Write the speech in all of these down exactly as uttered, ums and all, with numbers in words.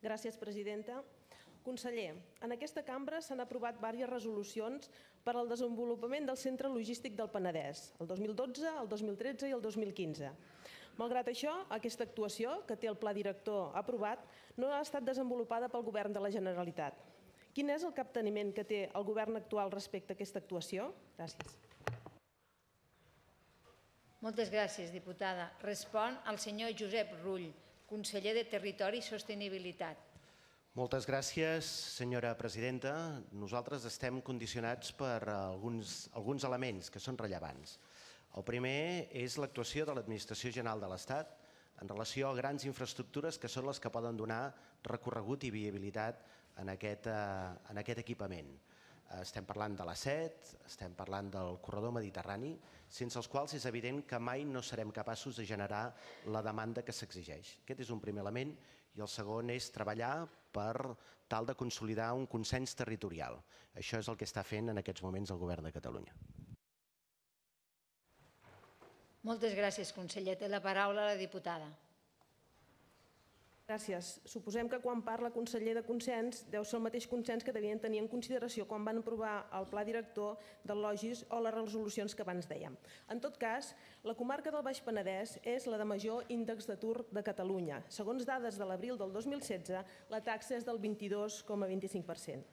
Gràcies, presidenta. Conseller, en aquesta cambra s'han aprovat diverses resolucions per al desenvolupament del Centre Logístic del Penedès, el dos mil dotze, el dos mil tretze i el dos mil quinze. Malgrat això, aquesta actuació, que té el pla director aprovat, no ha estat desenvolupada pel Govern de la Generalitat. Quin és el capteniment que té el Govern actual respecte a aquesta actuació? Gràcies. Moltes gràcies, diputada. Respon el senyor Josep Rull, conseller de Territori i Sostenibilitat. Moltes gràcies, senyora presidenta. Nosaltres estem condicionats per alguns, alguns elements que són rellevants. El primer és l'actuació de l'Administració General de l'Estat en relació a grans infraestructures que són les que poden donar recorregut i viabilitat en aquest, en aquest equipament. Estem parlant de l'A set, estem parlant del corredor mediterrani, sense els quals és evident que mai no serem capaços de generar la demanda que s'exigeix. Aquest és un primer element i el segon és treballar per tal de consolidar un consens territorial. Això és el que està fent en aquests moments el Govern de Catalunya. Moltes gràcies, conseller. Té la paraula la diputada. Gràcies. Suposem que quan parla conseller de consens deu ser el mateix consens que devien tenir en consideració quan van aprovar el pla director del Logis o les resolucions que abans dèiem. En tot cas, la comarca del Baix Penedès és la de major índex d'atur de Catalunya. Segons dades de l'abril del dos mil setze, la taxa és del vint-i-dos coma vint-i-cinc per cent.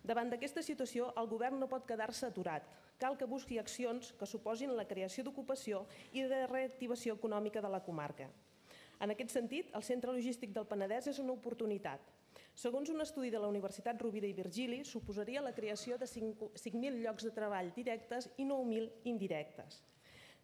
Davant d'aquesta situació, el Govern no pot quedar-se aturat. Cal que busqui accions que suposin la creació d'ocupació i de reactivació econòmica de la comarca. En aquest sentit, el Centre Logístic del Penedès és una oportunitat. Segons un estudi de la Universitat Rovira i Virgili, suposaria la creació de cinc mil llocs de treball directes i nou mil indirectes.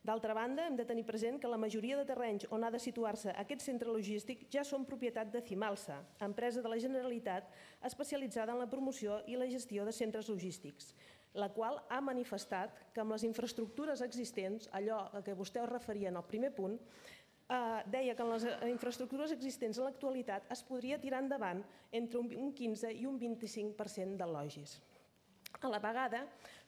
D'altra banda, hem de tenir present que la majoria de terrenys on ha de situar-se aquest centre logístic ja són propietat de Cimalsa, empresa de la Generalitat especialitzada en la promoció i la gestió de centres logístics, la qual ha manifestat que amb les infraestructures existents, allò a què vostè es referia en el primer punt, deia que en les infraestructures existents en l'actualitat es podria tirar endavant entre un quinze i un vint-i-cinc per cent del Logis. A la vegada,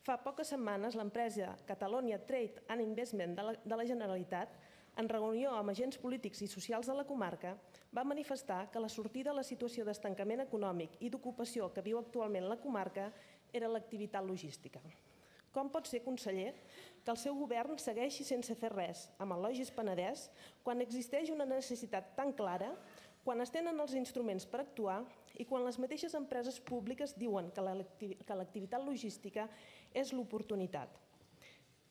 fa poques setmanes, l'empresa Catalonia Trade and Investment de la Generalitat, en reunió amb agents polítics i socials de la comarca, va manifestar que la sortida a la situació d'estancament econòmic i d'ocupació que viu actualment la comarca era l'activitat logística. Com pot ser, conseller, que el seu govern segueixi sense fer res amb el Logis Penedès quan existeix una necessitat tan clara, quan es tenen els instruments per actuar i quan les mateixes empreses públiques diuen que l'activitat logística és l'oportunitat?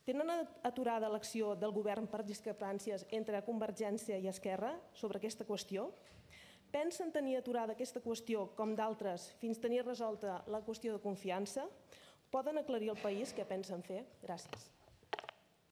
Tenen aturada l'acció del govern per discrepàncies entre Convergència i Esquerra sobre aquesta qüestió? Pensen tenir aturada aquesta qüestió, com d'altres, fins tenir resolta la qüestió de confiança? Poden aclarir al país què pensen fer? Gràcies.